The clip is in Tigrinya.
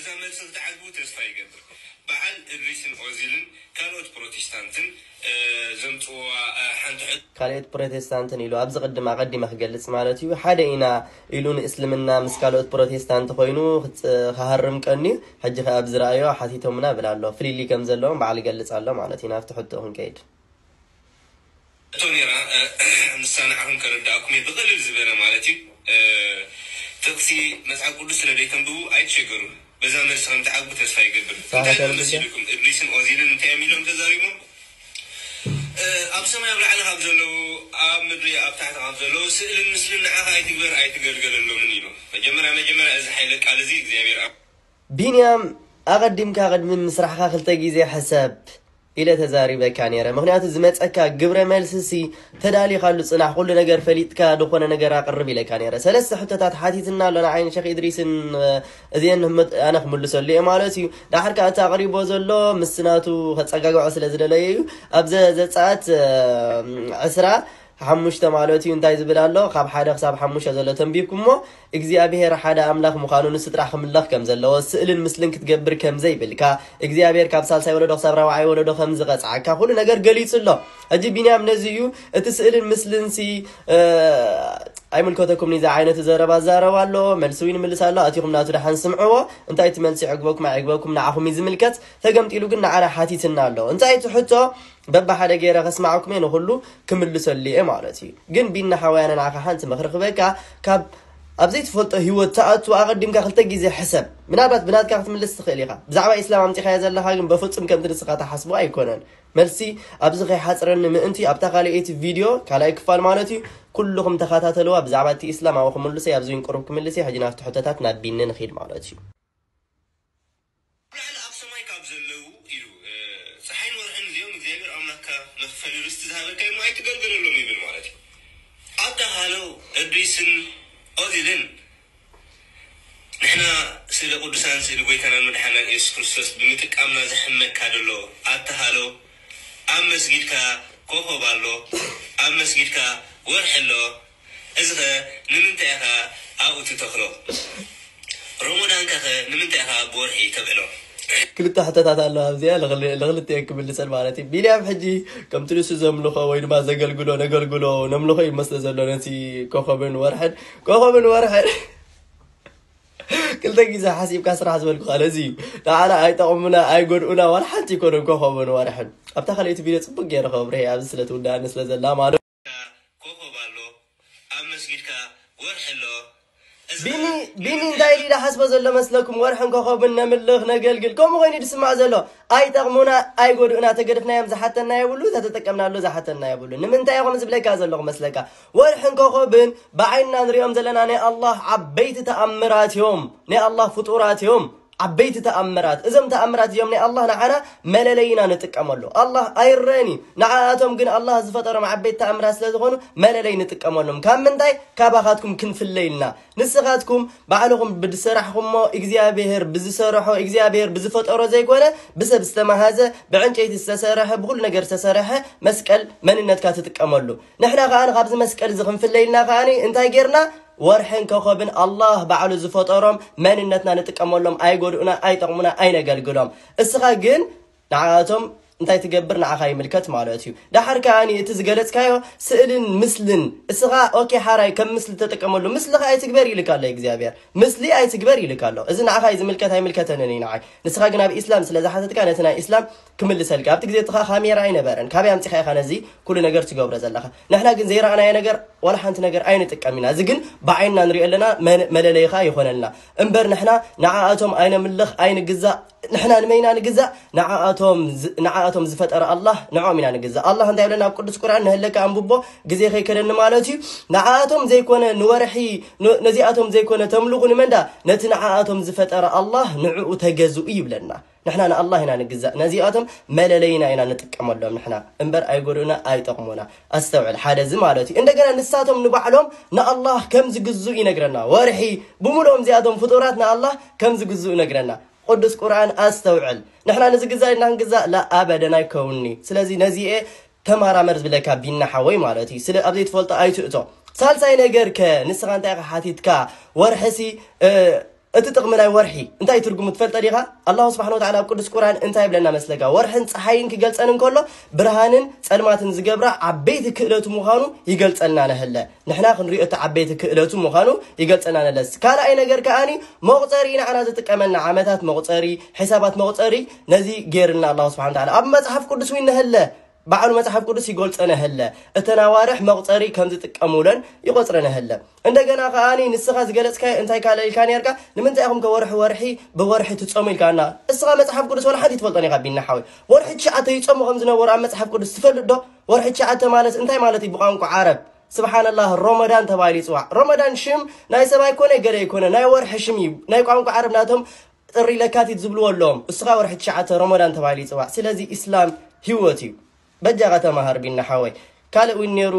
እዛ መልሲ ክትዓግቡ ተስፋ ይገብር። በዓል እድሪስን ኦዚልን ካልኦት ፕሮቴስታንትን፣ እ፣ ዘምጽእዋ፣ እ፣ ሓንቲ ሕቶ። ካልኦት ፕሮቴስታንትን ኢሉ ኣብዚ ቅድም ኣቐዲመ ክገልጽ ማለት እዩ። ሓደ ኢና ኢሉ ንእስልምና ምስ ካልኦት ፕሮቴስታንት ኮይኑ ክጽ-፣ ክሃርም ቀንዩ። ሕጂ ከኣ ኣብ ዝረኣዮ ሓቲቶምና ብል ኣሎ። ፍልልይ ከም ዘለዎም በዓል ይገልጽ ኣሎ ማለት እዩ። ናብቲ ሕቶ ክንከይድ። እቶ ነይራ፣ እ፣ ንሳ ንዓኹም ከረዳእኩም እየ ብቕልል ዝበለ ማለት እዩ። እ፣ ጥቕሲ መጽሓፍ ቅዱስ ስለ ዘይተንብቡ ኣይትሸገሩ። በዛ መልሲ ከም ትዓግቡ ተስፋ ይገብር። ሳራ እንታይ ኢሎም ከረድእ? መሲልኩም? እድሪስን ኦዚልን እንታይ እዮም ኢሎም ተዛሪቦም? እ፣ ኣብ ሰማይ ኣብ ላዕሊ ካብ ዘለዉ፣ ኣብ ምድሪ ኣብ ታሕቲ ካብ ዘለዉ ስእልን ምስልን ንዓኻ ኣይትግበር ኣይትገልገለሎምን ኢሉ። መጀመርያ መጀመርያ እዚ ሓይለ ቃል እዚ እግዚኣብሔር ኣብ ቢንያም፣ ኣቐዲምካ ቅድሚ ምስራሕካ ክልተ ግዜ ሕሰብ ኢለ ተዛሪበካ ነይረ። ምኽንያቱ ዝመጸካ ግብረ መልሲ ሲ ተዳሊኻሉ ጽናሕ፣ ኩሉ ነገር ፈሊጥካ ዝኾነ ነገር ኣቕርብ ኢለካ ነይረ። ሰለስተ ሕቶታት ሓቲትና ኣሎ ንዓይን ሸኽ ኢድሪስን፣ እ፣ እዚአን ህመት-፣ ኣነ ክምልሰሉ እየ ማለት እዩ። ዳሕር ከኣ እቲ ኣቕሪቦ ዘሎ ምስ ናቱ ከጸጋግዖ ስለ ዝደለየ እዩ። ኣብ ዘ-፣ ዘጸኣት፣ እ፣ ዕስራ ሓሙሽተ ማለት እዩ። እንታይ ዝብል ኣሎ? ካብ ሓደ ክሳብ ሓሙሽተ ዘሎ ተንቢብኩሞ እግዚኣብሔር ሓደ ኣምላኽ ምዃኑ ንሱ ጥራሕ ክምለኽ ከም ዘለዎ፣ ስእልን ምስልን ክትገብር ከም ዘይብልካ፣ እግዚኣብሔር ካብ ሳልሳይ ወለዶ ክሳብ ራብዓይ ወለዶ ከም ዝቐጽዓካ ኩሉ ነገር ገሊጹ ኣሎ። ሕጂ ቢንያም ነዚ እዩ፣ እቲ ስእልን ምስልን ሲ፣ እ፣ ኣይምልከተኩም ንዚ ዓይነት ዘረባ ዛረብ ኣሎ፣ መልሲ እውን ይምልስ ኣሎ። ኣቲኹም ናቱ ደሓን ስምዕዎ። እንታይ እቲ መልሲ ይዕግበኩም ኣይዕግበኩም ንዓኹም እዩ ዝምልከት። ተገምጢሉ ግን ንዓና ሓቲትና ኣሎ። እንታይ እቲ ሕቶ? በብሓደ ገይረ ከስማዓኩም እየ፣ ንኹሉ ክምልሰሉ እየ ማለት እዩ። ግን ቢና ሓወይ፣ ኣነ ንዓኻ ሓንቲ ምኽሪ ክበካ፣ ካብ ኣብ ዘይትፈልጦ ህይወት ትኣቱ ኣቐዲምካ ክልተ ግዜ ሕሰብ። ምናልባት ብናትካ ክትምልስ ትኽእል ኢኻ። ብዛዕባ ኢስላም ኣምጺኻዮ ዘለኻ ግን በፍጹም ከምቲ ንስኻ ትሓስቦ ኣይኮነን። መልሲ ኣብዚ ከይሓጽረኒ ምእንቲ ኣብታ ካልኣይቲ ቪድዮ፣ ካልኣይ ክፋል ማለት እዩ፣ ኩልኹም ተኸታተልዋ። ብዛዕባ እቲ ኢስላም ኣብኡ ክምልሰ፣ ኣብዚ እውን ቅሩብ ክምልስ እየ። ሕጂ ናብቲ ሕቶታት ናብ ቢኒ ንኺድ ማለት እዩ። ኣብ ላዕሊ ኣብ ሰማይ ካብ ዘለዉ ኢሉ፣ እ፣ ፀሓይን ወርሕን እዚኦም እግዚኣብሔር ኣምላኽካ መኽፈሊ ርስቲ ዝሃበካ እሞ ኣይትገልገለሎም ይብል ማለት እዩ። ኣታ ሃሎ እድሪስን ኦዚልን፣ ንሕና ስእሊ ቅዱሳን ስእሊ ጎይታናን መድሓናን ኢየሱስ ክርስቶስ ብምጥቃምና ዘሕመካ ደሎ ኣታ ሃሎ፣ ኣብ መስጊድካ ኮኾብ ኣሎ፣ ኣብ መስጊድካ ወርሒ ኣሎ፣ እዚ ኸ ንምንታይ ኢኻ ኣብኡ ትተኽሎ? ሮሞዳንካ ኸ ንምንታይ ኢኻ ብወርሒ ተብዕሎ? ክልተ ሕቶታት ኣለዋ ኣብዚኣ፣ ንኽል-፣ ንኽልቲኤን ክምልሰን ማለት እዩ። ቢንያም ሕጂ ከምቲ ንሱ ዘምልኾ ወይ ድማ ዘገልግሎ፣ ነገልግሎ፣ ነምልኾ ይመስሎ ዘሎ ነቲ ኮኸብን ወርሕን። ኮኸብን ወርሕን ክልተ ግዜ ሓሲብካ ስራሕ ዝበልኩኻ ነዚ እዩ። ንዓና ኣይጠቕሙና፣ ኣይጎድኡና፣ ዋላ ሓንቲ ኣይኮኑን ኮኸብን ወርሕን። ኣብታ ካልኣይቲ ቪድዮ ጽቡቅ ገይረ ከብርህ እየ፣ ኣብዚ ስለ ትውዳእኒ ስለ ዘላ ማለት። ኮኸብ ኣሎ፣ ኣብ መስጊድካ ወርሒ ኣሎ። እዚ ቢኒ፣ ቢኒ እንታይ ኢሉ ይሓስቦ ዘሎ መስለኩም? ወርሕን ኮኸብን ነምልኽ፣ ነገልግል፣ ከምኡ ኮይኑ ድስማዕ ዘሎ። ኣይጠቕሙና፣ ኣይጎድኡና፣ ተገድፍናዮም ዝሓተና የብሉ፣ ተተጠቀምናሉ ዝሓተና የብሉ። ንምንታይ ኢኹም ዝብለካ ዘለኹ መስለካ? ወርሕን ኮኸብን ብዓይንና ንሪኦም ዘለና ናይ ኣላህ ዓበይቲ ተኣምራት እዮም፣ ናይ ኣላህ ፍጡራት እዮም። ዓበይቲ ተኣምራት። እዞም ተኣምራት እዚኦም ናይ ኣላህ ንዓና መለለይና ንጥቀመሉ። ኣላህ ኣይረአን እዩ። ንዓኣቶም ግን ኣላህ ዝፈጠሮም ዓበይቲ ተኣምራት ስለ ዝኾኑ መለለይ ንጥቀመሎም። ካብ ምንታይ? ካባኻትኩም ክንፍለ ኢልና። ንስኻትኩም ባዕልኹም ብዝሰራሕኹሞ እግዚኣብሔር ብዝሰረሖ እግዚኣብሔር ብዝፈጠሮ ዘይኮነ ብሰብ ዝተመሃዘ ብዕንጨይቲ ዝተሰረሐ ብኹሉ ነገር ዝተሰረሐ መስቀል መንነትካ ትጥቀመሉ። ንሕና ከኣ ካብዚ መስቀል እዚ ክንፍለ ኢልና ከኣ እንታይ ጌርና? ወርሕን ኮኸብን ኣላህ ባዕሉ ዝፈጠሮም መንነትና ንጥቀመሎም፣ ኣይጎድኡና፣ ኣይጠቕሙና፣ ኣይነገልግሎም። እስኻ ግን ንዓኣቶም እንታይ ትገብር ንዓኻ ይምልከት ማለት እዩ። ደሓር ከኣ እቲ ዝገለጽካዮ ስእልን ምስልን እስኻ ኦኬ ሓራይ ከም ምስሊ ተጠቀመሉ። ምስልኻ ኣይትግበር ይልካ ኣሎ እግዚኣብሔር። ምስሊ ኣይትግበር ይልካ ኣሎ። እዚ ንዓኻ እዩ ዝምልከት ኣይምልከተንን እዩ ንዓይ። ንስኻ ግን ኣብ ኢስላም ስለ ዝሓተትካ ነቲ ናይ ኢስላም ክምልሰልካ። ኣብቲ ግዜ እቲ ኸኣ ካሜራ ኣይነበረን። ካበይ ኣምጺኻ ኢኻ ነዚ ኩሉ ነገር ትገብሮ ዘለኻ? ንሕና ግን ዘይረኣናዮ ነገር ዋላ ሓንቲ ነገር ኣይንጥቀም ኢና። እዚ ግን ብዓይንና ንሪኦ ኣለና፣ መን-፣ መለለይኻ ይኾነልና። እምበር ንሕና ንዓኣቶም ኣይነምልኽ፣ ኣይንግዛእ። ንሕና ንመይና ንግዛእ? ንዓኣቶም ዝ-፣ ንዓኣቶም ዝፈጠረ ኣላህ ንዕኦም ኢና ንግዛእ። ኣላህ እንታይ ይብለና ኣብ ቅዱስ ቁርኣን? ንህለካ ኣንብቦ፣ ግዜ ከይከደኒ ማለት እዩ። ንዓኣቶም ዘይኮነ ንወርሒ፣ ን-፣ ነዚኣቶም ዘይኮነ ተምልኹ ንመንዳ? ነቲ ንዓኣቶም ዝፈጠረ ኣላህ ንዕኡ ተገዝኡ ይብለና። ንሕና ንኣላህ ኢና ንግዛእ። ነዚኣቶም መለለይና ኢና ንጥቀመሎም ንሕና እምበር ኣይጎድኡና፣ ኣይጠቕሙና። ኣስተውዕል፣ ሓደ እዚ ማለት እዩ። እንደገና ንሳቶም ንባዕሎም ንኣላህ ከም ዝግዝኡ ይነግረና። ወርሒ ብምልኦም እዚኣቶም ፍጡራት ንኣላህ ከም ዝግዝኡ ይነግረና። ቅዱስ ቁርኣን ኣስተውዕል። ንሕና ንዝግዛእ ኢልና ክንግዛእ? ላ፣ ኣበደን ኣይከውንኒ። ስለዚ ነዚኤ ተመራመር ዝብለካ ቢና ሓወይ ማለት እዩ። ስለ ኣብ ዘይትፈልጦ ኣይትእቶ። ሳልሳይ ነገር ከ ንስኻ እንታይ ኢኻ ሓቲትካ? ወርሕሲ፣ እ፣ እቲ ጥቕሚ ናይ ወርሒ እንታይ ትርጉሙ ትፈልጠ ዲኻ? ኣላሁ ስብሓን ወተዓላ ኣብ ቅዱስ ቁርኣን እንታይ ይብለና መስለካ? ወርሕን ፀሓይን ክገልፀን እንከሎ ብርሃንን ፀልማትን ዝገብራ ዓበይቲ ክእለቱ ምዃኑ ይገልፀልና ነህለ። ንሕና ክንሪኦ እቲ ዓበይቲ ክእለቱ ምዃኑ ይገልፀልና ነለስ። ካልኣይ ነገር ከኣኒ መቑፀሪ ንዓና ዝጥቀመና ዓመታት መቑፀሪ፣ ሕሳባት መቑፀሪ ነዚ ገይርልና ኣላሁ ስብሓን ወተዓላ ኣብ መፅሓፍ ቅዱስ እውን ነህለ። ባዕሉ መጽሓፍ ቅዱስ ይገልጸ ነህለ። እተን ኣዋርሕ መቑጸሪ ከም ዝጥቀሙለን ይቆጽረ ነህለ። እንደገና ከኣኒ ንስኻ ዝገለጽካዮ እንታይ ካለ ኢልካ ነርካ? ንምንታይ ኢኹም ከ ወርሒ ወርሒ ብወርሒ ትጸሙ ኢልካና? እስኻ መጽሓፍ ቅዱስ ወላ ሓንቲ ትፈልጦን ኢኻ ቢና ሓወይ። ወርሒ ትሽዓተ ይጸሙ ከም ዝነበሩ ኣብ መጽሓፍ ቅዱስ ትፈልጥ ዶ? ወርሒ ትሽዓተ ማለት እንታይ ማለት እዩ ብቋንቋ ዓረብ? ስብሓንላህ፣ ሮመዳን ተባሂሉ ይጽዋዕ። ሮመዳን ሽም ናይ ሰብ ኣይኮነ፣ ገለ ኣይኮነ፣ ናይ ወርሒ ሽም እዩ። ናይ ቋንቋ ዓረብ ናቶም ጥሪ ለካቲት ዝብልዎ ኣለዎም። እስኻ ወርሒ ትሽዓተ ሮመዳን ተባሂሉ ይጽዋዕ። ስለዚ ኢስላም ህይወት እዩ። በጃኻ ተማሃር ቢና ሓወይ። ካልእ እውን ነይሩ።